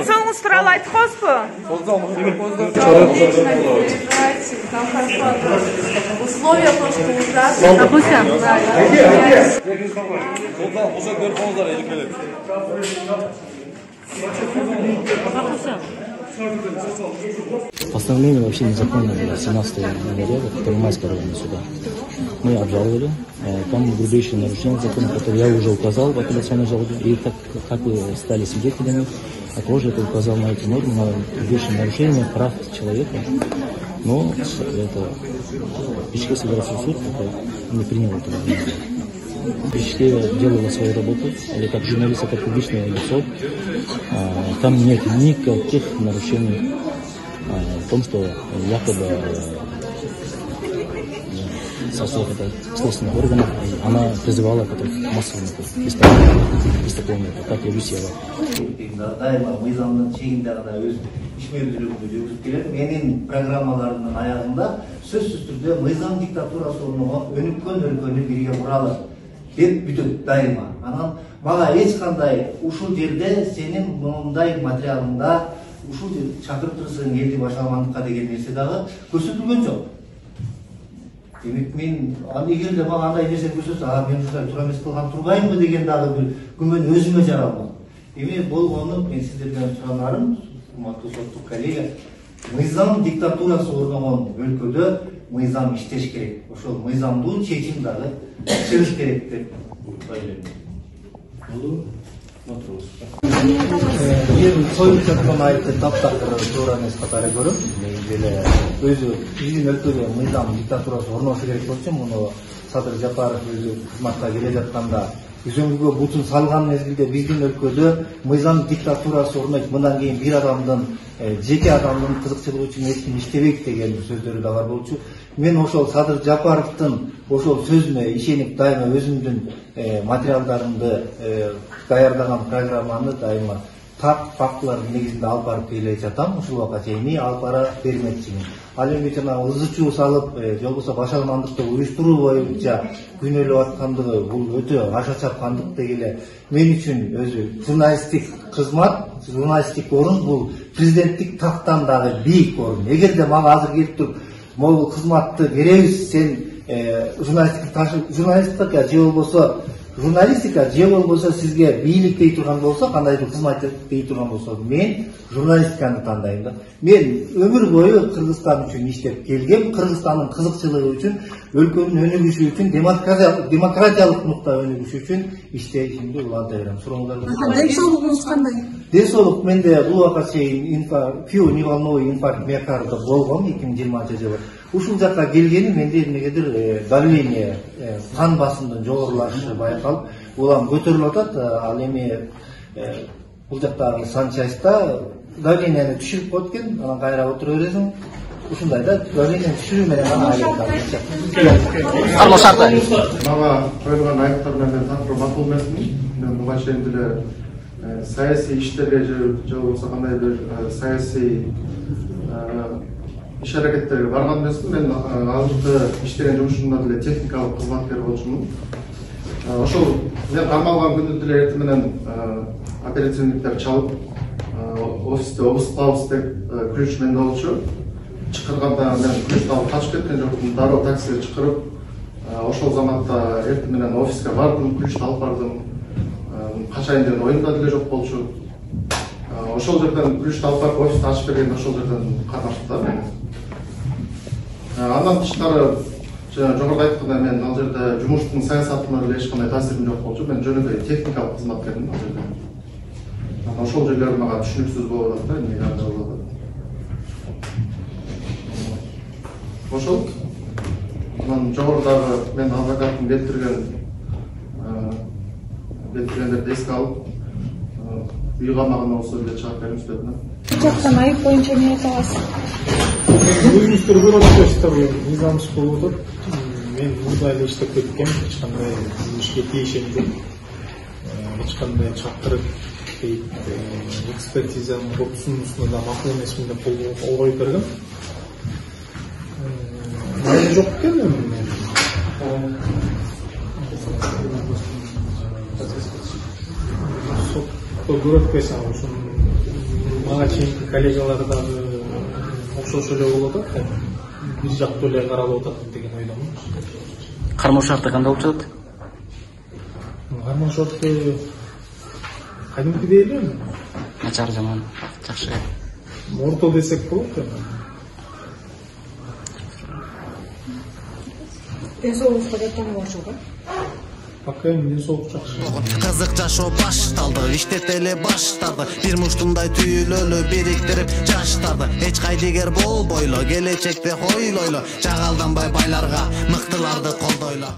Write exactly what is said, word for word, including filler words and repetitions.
соңуңуз тууралуу айтып коесузбу? Условия просто ужасные. Допустим. Постановление вообще незаконное было семнадцатого января в Первомайском районе суда. Мы обжаловали. Там грубейшие нарушения закона, которые я уже указал в апелляционной жалобе. И так как вы стали свидетелями, я тоже это указал на эти нормы, на грубейшие нарушения прав человека. Но это Бишкек федеральный суд не принял этого. Бишкек делала свою работу, или как журналист, как публичное лицо. Там нет никаких нарушений в том, что якобы со слов следственных органов она призывала к массовому преступлению, как и висела. Дайыма мыйзамдын чегинде гана өз ишмердүүлүгүмдү жүргүзүп келем. Менин программаларымдын аягында сөзсүз түрдө мыйзам диктатурасы орногон өнүккөн өлкөнү бирге куралы деп бүтөт дайыма. Анан мага эч кандай ушул жерде сенин мындай материалыңда ушул чакырып турсаң элди башаламандыкка деген нерсе дагы көрсөтүлгөн жок. Демек мен эгер эле мага андай нерсе көрсөтсө, а мен ушундай туура эмес кылган турбаймынбы деген дагы бир күмөн өзүмө жаралмак. Эми болгону мен сиздерден суранарым, урматтуу соттук коллега, мыйзам диктатурасы орногон өлкөдө мыйзам иштеш керек. Ошол мыйзамдуу чечим дагы чыгыш керек деп ойлойм. Болду? Мен коюп жаткан айыпты таптакыр туура эмес катары көрөм. Деле өзү биздин өлкөдө мыйзам диктатурасы орношу керек болчу, муну Садыр Жапаров өзү кызматка келе жатканда үзөңгүгө бутун салган мезгилде биздин өлкөдө мыйзам диктатурасы орнойт, мындан кийин бир адамдын жеке адамдын кызыкчылыгы үчүн эч ким иштебейт деген сөздөрү да бар болчу. Мен ошол Садыр Жапаровдун ошол сөзүнө ишенип дайыма өзүмдүн материалдарымды даярдаган программаны дайыма так фактылардын негизинде алып барып келе жатам. Ушул убакка чейин алып бара бермекчимин. Ал эми жанагы ызы чуу салып, же болбосо башаламандыкты уюштуруу боюнча күнөөлөп аткандыгы бул өтө аша чапкандык дегеле мен үчүн өзү журналисттик кызмат, журналисттик орун бул президенттик тактан дагы бийик орун. Эгерде мага азыр келип туруп, могул кызматты беребиз, сен журналисттик журналистика же болбосо журналистика же болбосо сизге бийлик дей турган болсо, кандайдыр кызмат дей турган болсо, мен журналистиканы тандайм да. Мен өмүр бою Кыргызстан үчүн иштеп келгем, Кыргызстандын кызыкчылыгы үчүн, өлкөнүн өнүгүшү үчүн, демократиялык нукта өнүгүшү үчүн иштешимди уланта берем. Сурооңуздарга. Ден соолугуңуз кандай? Ден соолук менде бул убакка чейин пио-неволновый инфаркт миокарда болгон эки миң жыйырманчы жылы. Ушул жакка келгени менде эмнегедир давление, кан басымдын жогорулашы байкалып, улам көтөрүлүп атат. Ал эми бул жактагы санчаста давлениени түшүрүп коет экен, анан кайра отура бересиң. Ушундай да давлениени түшүрүү менен гана айыпталат. Арман шарты. Мага коюлган айыптар менен такыр макул эмесмин. Мен буга чейин деле саясий иштерге же болбосо кандай бир саясий иш аракеттерге барган эмесмин. Мен азыркы иштеген жумушумда деле техникалык кызматкер болчумун. Ошол мен кармалган күндү деле эртең менен оперативниктер чалып, офисте обыскабыз деп ключ менде болчу. Чакырганда мен ключ алып качып кеткен жокмун. Дароо таксиге чакырып, ошол заматта эртең менен офиске бардым, ключ алып бардым. Качайын деген оюмда деле жок болчу. Ошол жерден ключ алып барып офисти ачып бергенде ошол жерден катнаштыктар мени. Андан тышкары жогоруда айткандай мен ал жерде жумуштун саясатына деле эч кандай таасирим жок болчу. Мен жөн эле техникалык кызматкермин ал жерде. Ошол жерлер мага түшүнүксүз болуп атат да, эмнеге андай болуп атат. Ошол анан жогорудагы мен адвокаттын келтирген келтиргендерди эске алып, үй камагына болсо деле чыгып бериңиз деп мен. Жактан айып боюнча эмне айта аласыз? Өзүңүздөр көрүп атасыздар, мыйзамсыз болуп атат. Мен мындай эле иштеп кеткем, эч кандай ишке тийишемди. Эч кандай чакырып экспертизанын копсунусуна да макул эмесмин деп кол коюп бергем. Мен жок экен. Сотто көрөт бесаң ушун мага чейинки коллегалар дагы окшош эле болуп атат, бир жактуу эле каралып атат деген ойдомун. Кармоо шарты кандай болуп жатат? Кармоо шарты кадимкидей эле. Начар, жаман, жакшы. Орто десек болот. Ден соолугубузга жаттануу бар жок, Пока эми ден соолук жакшы. Кызык жашоо башталды, иштетели баштады. Бир муштундай түйүлөлү бириктирип жаштарды. Эч кайдыгер болбойло, келечекте хойлойло. Жагалданбай байларга, мыктыларды колдойло.